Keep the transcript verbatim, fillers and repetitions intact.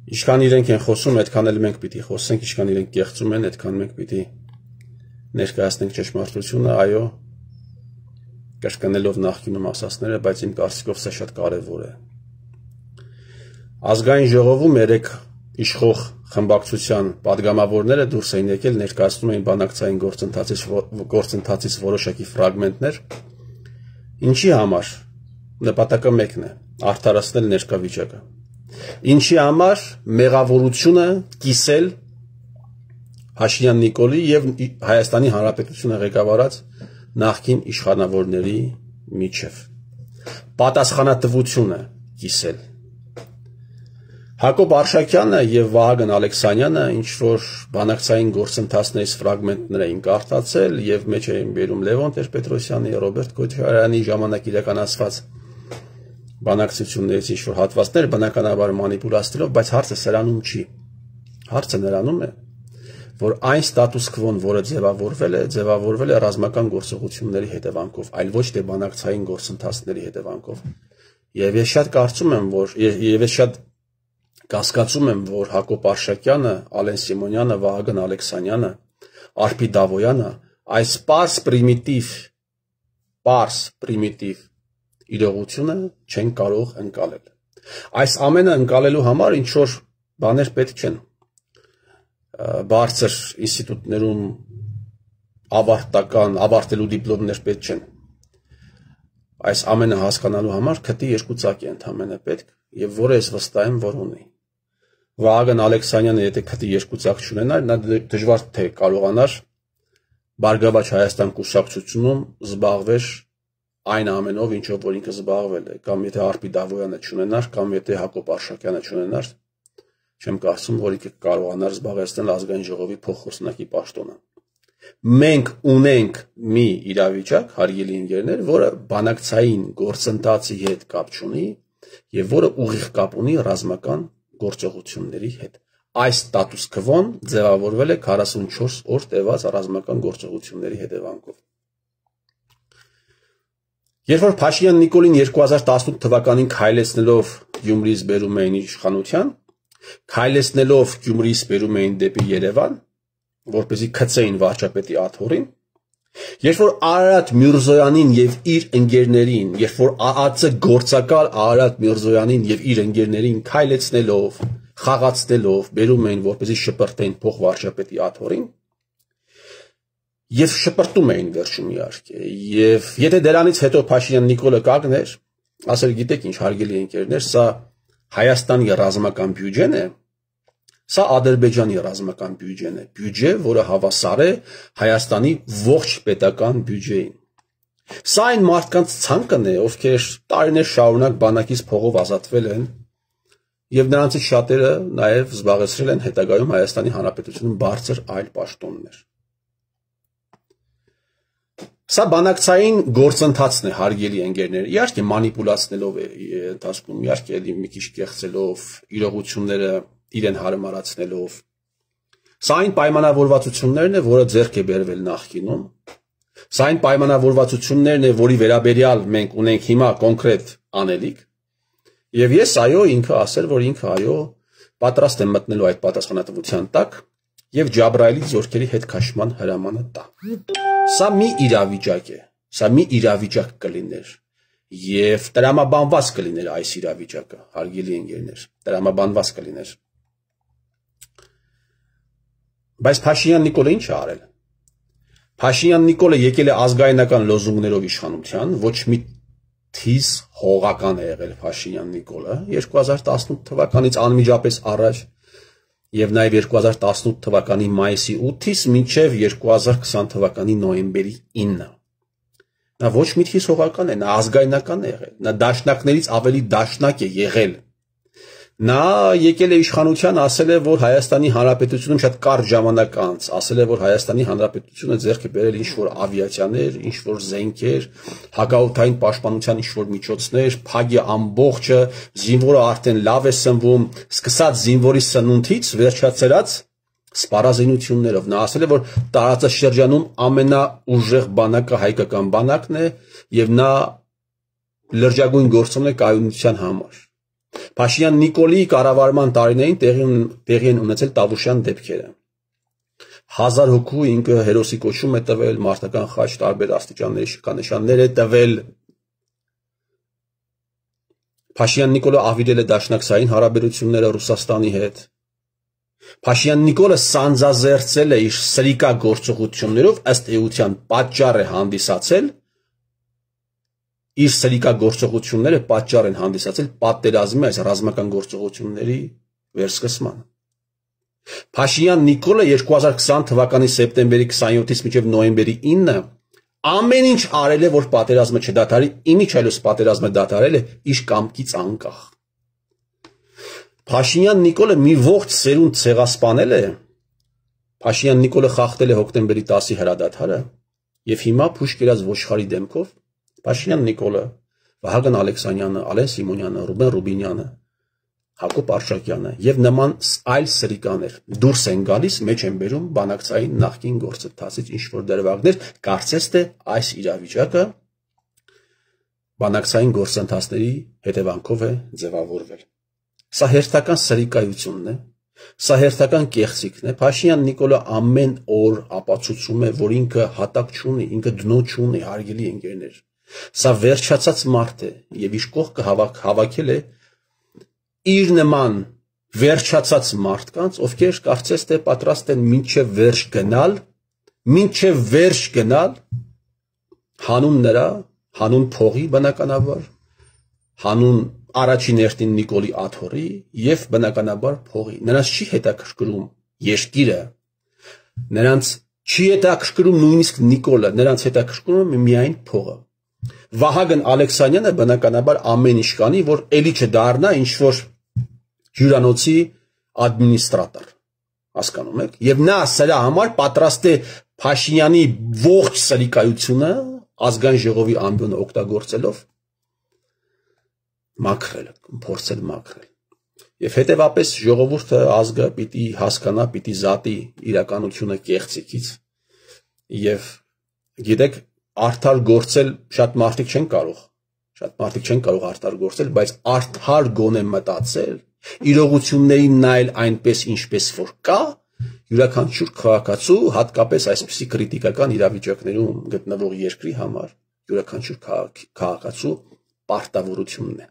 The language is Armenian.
Ինչքան իրենք են խոսում, այդքան էլ մենք պիտի խոսենք, ինչքան իրենք կեղծում են, այդքան մենք պիտի ներկայացնենք ճշմարտությունը, այո, կրկնելով նախկինում ասածները, բայց իմ կարծիքով սա շատ կարևոր է։ Ազգային ժողովում երեք իշխող խմբակցության падգամավորները դուրս էին եկել, ներկայացնում էին բանակցային գործընթացից գործընթացից որոշակի ֆրագմենտներ, ինչի համար նպատակը մեկն է՝ արդարացնել ներկա վիճակը։ Ինչի համար մեղավորությունը կիսել Փաշինյան Նիկոլի եւ Հայաստանի Հանրապետությունը ղեկավարած նախկին իշխանավորների միջև պատասխանատվությունը կիսել։ Հակոբ Արշակյանը եւ Վահագն Ալեքսանյանը ինչ որ բանակցային գործընթացներից ֆրագմենտներ էին կարդացել եւ մեջ էին բերում Լևոն Տեր-Պետրոսյանի, Ռոբերտ Քոչարյանի ժամանակ իրականացված բանակցություններից ինչ որ հատվածներ բնականաբար մանիպուլացնելով, բայց հարցը սրանում չի։ Հարցը նրանում է, որ այն ստատուս քվոն, որը ձևավորվել է, ձևավորվել է ռազմական գործողությունների հետևանքով, այլ ոչ թե բանակցային գործընթացների հետևանքով։ Եվ ես շատ կարծում եմ, որ եւ ես շատ կասկածում եմ, որ Հակոբ Արշակյանը, Ալեն Սիմոնյանը, Վահագն Ալեքսանյանը, Արփի Դավոյանը այս պարս պրիմիտիվ, պարս պրիմիտիվ իրողությունը չեն կարող ընկալել։ Այս ամենը ընկալելու համար ինչ որ բաներ պետք չեն։ Բարձր ինստիտուտներում ավարտական, ավարտելու դիպլոմներ պետք չեն։ Այս ամենը հասկանալու համար քթի երկու ծակ է ընդհանրապես պետք, եւ որը ես վստահ եմ, որ ունի։ Վահագն Ալեքսանյանը եթե քթի երկու ծակ չունենար, նա դժվար թե կարողանար Բարգավաճ Հայաստան կուսակցությունում զբաղվեր այն ամենով, ինչով որ ինքը զբաղվել է, կամ եթե Արփի Դավոյանը չունենար, կամ եթե Հակոբ Արշակյանը չունենար, չեմ կարծում, որ ինքը կարողանար զբաղեցնել ազգային ժողովի փոխխոսնակի պաշտոնը։ Մենք ունենք մի իրավիճակ, հարգելի ընկերներ, որը բանակցային գործընթացի հետ կապ չունի եւ որը ուղիղ կապ ունի ռազմական գործողությունների հետ։ Այս ստատուս քվոն ձևավորվել է քառասունչորս օր տևած ռազմական գործողությունների հետևանքով։ Երբ որ Փաշինյան Նիկոլին երկու հազար տասնութ թվականին քայլեցնելով Գյումրիից բերում էին իշխանության, քայլեցնելով Գյումրիից բերում էին դեպի Երևան, որպեսզի քցեին վարչապետի աթոռին, երբ որ Արարատ Միրզոյանին եւ իր ընկերներին, երբ որ ԱԱՑ գործակալ Արարատ Միրզոյանին եւ իր ընկերներին քայլեցնելով, խաղացնելով բերում էին, որպեսզի շպրտեն փող վարչապետի աթոռին, եւ շպրտում էին վերջում իհարկե, եւ եթե դրանից հետո Փաշինյան Նիկոլը կանգներ, ասել գիտեք ինչ հարգելի ընկերներ, սա Հայաստանի ռազմական բյուջեն է, սա Ադրբեջանի ռազմական բյուջեն է, բյուջե, որը հավասար է Հայաստանի ողջ պետական բյուջեին։ Սա այն մարդկանց ցանկն է, ովքեր տարիներ շարունակ բանակից փողով ազատվել են, եւ նրանցից շատերը նաեւ զբաղեցրել են հետագայում Հայաստանի Հանրապետությունում բարձր այլ պաշտոններ։ Սա բանակցային գործընթացն է, հարգելի ընկերներ, իհարկե մանիպուլացնելով է ընթացքում, իհարկե մի քիչ կեղծելով, իրողությունները իրեն հարմարացնելով։ Սա այն պայմանավորվածություններն է, որը ձեռք է բերվել նախկինում։ Սա այն պայմանավորվածություններն է, որի վերաբերյալ մենք ունենք հիմա կոնկրետ անելիք։ Եվ ես այո, ինքը ասել, որ ինքը այո, պատրաստ է մտնելու այդ պատասխանատվության տակ եւ Ջաբրայելի զորքերի հետ քաշման հրամանը տա։ Սա մի իրավիճակ է, սա մի իրավիճակ կլիներ եւ տրամաբանված կլիներ այս իրավիճակը, հարգելի ընկերներ, տրամաբանված կլիներ։ Բայց Փաշինյան Նիկոլը ինչ է արել։ Փաշինյան Նիկոլը եկել է ազգայնական լոզունգներով իշխանության, ոչ մի թիզ հողական է եղել Փաշինյան Նիկոլը երկու հազար տասնութ թվականից անմիջապես առաջ եւ նաեւ երկու հազար տասնութ թվականի մայիսի ութից մինչեւ երկու հազար քսան թվականի նոյեմբերի ինը։ Նա ոչ մի թիզ հողական է, նա ազգայնական է եղել, նա դաշնակներից ավելի դաշնակ է եղել։ Նա եկել է իշխանության, ասել է, որ Հայաստանի Հանրապետությունում շատ կարճ ժամանակ անց, ասել է, որ Հայաստանի Հանրապետությունը ձեռք է բերել ինչ-որ ավիացիաներ, ինչ-որ զենքեր, հակաօդային պաշտպանության ինչ-որ միջոցներ, փագի ամբողջը, զինվորը արդեն լավ է սնվում, սկսած զինվորի սնունդից վերջացրած սպառազինություններով։ Նա ասել է, որ տարածաշրջանում ամենաուժեղ բանակը հայկական բանակն է եւ նա լրջագույն գործում է կայունության համար։ Փաշինյան Նիկոլի կառավարման տարիներին տեղի են ունեցել Տավուշյան դեպքերը։ Հազար հոգու ինքը հերոսի կոչում է տվել, մարտական խաչ տարբեր աստիճանների շքանշաններ է տվել։ Փաշինյան Նիկոլը ավիրել է դաշնակցային հարաբերությունները Ռուսաստանի հետ։ Փաշինյան Նիկոլը սանձազերծել է իր սրիկա գործողություններով, ըստ էության պատճառ է հանդիսացել իր սրիկա գործողությունները պատճառ են հանդիսացել պատերազմի այս ռազմական գործողությունների վերսկսմանը։ Փաշինյան Նիկոլը երկու հազար քսան թվականի սեպտեմբերի քսանյոթից մինչև նոյեմբերի ինը ամեն ինչ արել է, որ պատերազմը չդադարի, իմիջ այլոց պատերազմը դադարել է իր կամքից անկախ։ Փաշինյան Նիկոլը մի ողջ սերունդ ցեղասպանել է։ Փաշինյան Նիկոլը խախտել է հոկտեմբերի տասի հրադադարը եւ հիմա փուշ կերած ոչխարի դեմքով Փաշինյան Նիկոլը, Վահագն Ալեքսանյանը, Ալեն Սիմոնյանը, Ռուբեն Ռուբինյանը, Հակոբ Արշակյանը եւ նման այլ սրիկաներ դուրս են գալիս, մեջ են բերում բանակցային նախկին գործընթացից ինչ որ դրվագներ, կարծես թե այս իրավիճակը բանակցային գործընթացների հետևանքով է ձևավորվել։ Սա հերթական սրիկայությունն է, սա հերթական կեղծիքն է։ Փաշինյան Նիկոլը ամեն օր ապացուցում է, որ ինքը հատակ չունի, ինքը դնո չունի, հարգելի ընկերներ։ Սա վերջացած մարդ է եւ իր կողքը հավաք հավաքել է իր նման վերջացած մարդկանց, ովքեր կարծես թե պատրաստ են մինչև վերջ գնալ, մինչև վերջ գնալ հանուն նրա, հանուն փողի բնականաբար, հանուն առաջին երթին Նիկոլի աթոռի եւ բնականաբար փողի։ Նրանց չի հետաքրքրում երկիրը, նրանց չի հետաքրքրում նույնիսկ Նիկոլը, նրանց հետաքրքրում է միայն փողը։ Վահագն Ալեքսանյանը բնականաբար ամեն ինչ կանի, որ էլի չդառնա ինչ որ հյուրանոցի ադմինիստրատոր, հասկանում եք, եւ նա սրա համար պատրաստ է Փաշինյանի ողջ սրիկայությունը ազգային ժողովի ամբիոնը օգտագործելով մաքրել, փորձել մաքրել։ Եվ հետեւապես ժողովուրդը ազգը պիտի հասկանա, պիտի զատի իրականությունը կեղծիքից եւ գիտեք արդար գործել շատ մարդիկ չեն կարող, շատ մարդիկ չեն կարող արդար գործել, բայց արդար գոնե մտածել, իրողություններին նայել այնպես ինչպես որ կա, յուրաքանչյուր քաղաքացու, հատկապես այսպիսի քրիտիկական իրավիճակներում գտնվող երկրի համար յուրաքանչյուր քաղաքացու պարտավորությունն է։